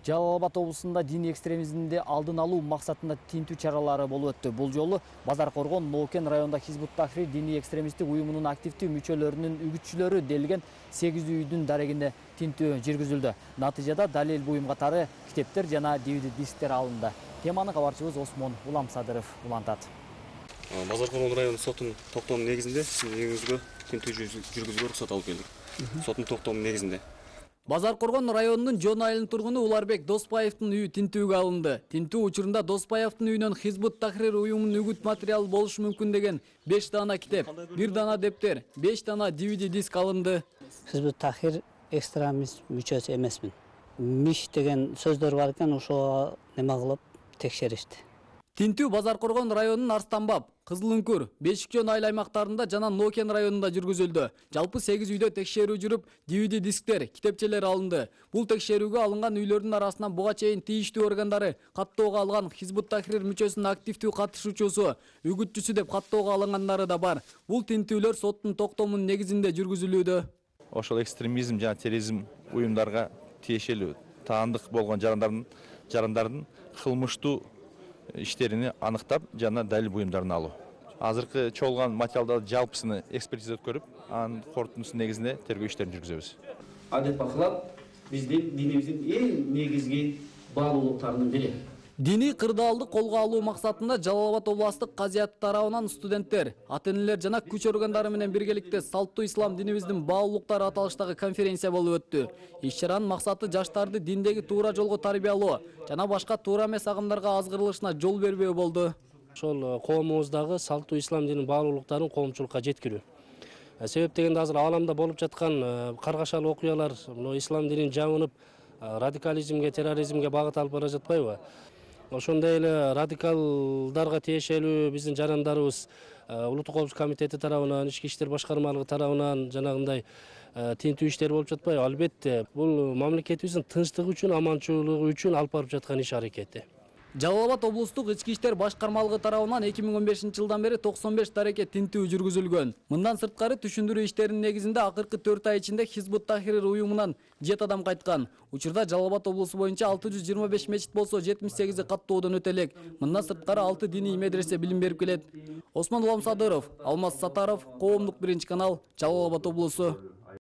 Жалал Абад облусунда диний экстремизмди алдын алуу максатында тинтүү чаралары болуп өттү. Бул жолу Базар Коргон Нокен районунда Хизбут Тахрир диний экстремисттик уюмунун активдүү мүчөлөрүнүн үгүтчүлөрү делген 8 үйдүн дарегинде тинтүү жүргүзүлдү. Натыйжада далил буюм катары китептер жана DVD дисктер алынды. Теманы кабарчыбыз Осмон Уламсадыров улантат. Базар Коргон району сотунун токтомунун негизинде сиздин үйүңүзгө тинтүү жүргүзүүгө уруксат алып келдик. Соттун токтомунун негизинде. Базар Коргон районунун Жон айылынын тургуну Уларбек Доспаевдин үйү тинтүүгө алынды. Тинтүү учурунда Доспаевдин үйүнөн Хизбут Тахрир уюмунун үгүт материалы болушу мүмкүн деген 5 дана китеп, 1 дана дептер, 5 дана DVD диск алынды. Хизбут Тахрир экстремист мүчөсү эмесмин. Миш деген сөздөр бар экен, ошого неме кылып текшеришти. Тинтүү Базар Коргон районунун Арстанбаб, Кызылүңкүр, Бешикчөн айыл аймактарында жана Нокен районунда жүргүзүлдү. Жалпы 8 үйдө текшерүү жүрүп, DVD дисктер, китепчелер алынды. Бул текшерүүгө алынган үйлөрдүн арасынан буга чейин тийиштүү органдары каттоого алган Хизбут Тахрир мүчөсүнүн активдүү катышуучусу, үгүтчүсү деп каттоого алынгандары да бар. Бул тинтүүлөр соттун токтомунун негизинде жүргүзүлүүдө. Ошол экстремизм жана терроризм уюмдарга тиешелүү таандык болгон жарандардын кылмыштуу иштерини аныктап жана далил буюмдарын алуу. Азыркы чогулган материалдарды жалпысыны экспертиза өткөрүп, анын корутундусунун негизинде тергөө иштерин жүргүзөбүз. Адет бакылап биздин динибиздин эң негизги баалуулуктарынын бири. Диний кырдаалды колго алуу максатында Жалал Абад областык казыят тарабынан студенттер, ата-энелер жана күч органдары менен биргеликте салттуу ислам динибиздин баалуулуктары аталыштагы конференция болуп өттү. Иш-чаранын максаты жаштарды диндеги туура жолго тарбиялоо жана башка туура эмес агымдарга азгырылышына жол бербөө болду. Ошол коомубуздагы салттуу ислам дининин баалуулуктарын коомчулукка жеткирүү. Себеп дегенде азыр ааламда болуп жаткан каргашалуу окуялар ислам динин жабынып радикализмге, терроризмге багыт алып бара жатпайбы? Ошондой эле радикалдарга тиешелүү биздин жарандарыбыз Улуттук коопсуздук комитети тарабынан, ички иштер башкармалыгы тарабынан жанагындай тинтүү иштери болуп жатпайбы? Албетте, бул мамлекетибиздин тынчтыгы үчүн, аманчылыгы үчүн алып барып жаткан иш аракети. Жалал Абад облустук ички иштер башкармалыгы тарабынан 2015-жылдан бери 95 дарекет тинтүү жүргүзүлгөн. Мындан сырткары түшүндүрүү иштеринин негизинде акыркы 4 ай ичинде Хизбут Тахрир уюмунан 7 адам кайткан. Учурда Жалал Абад облусу боюнча 625 мечит болсо, 78 каттоодон өтө элек. Мындан сырткары 6 диний медресе билим берип келет. Осмон Уламсадыров, Алмаз Сатаров, Коомдук 1 канал, Жалал Абад облусу.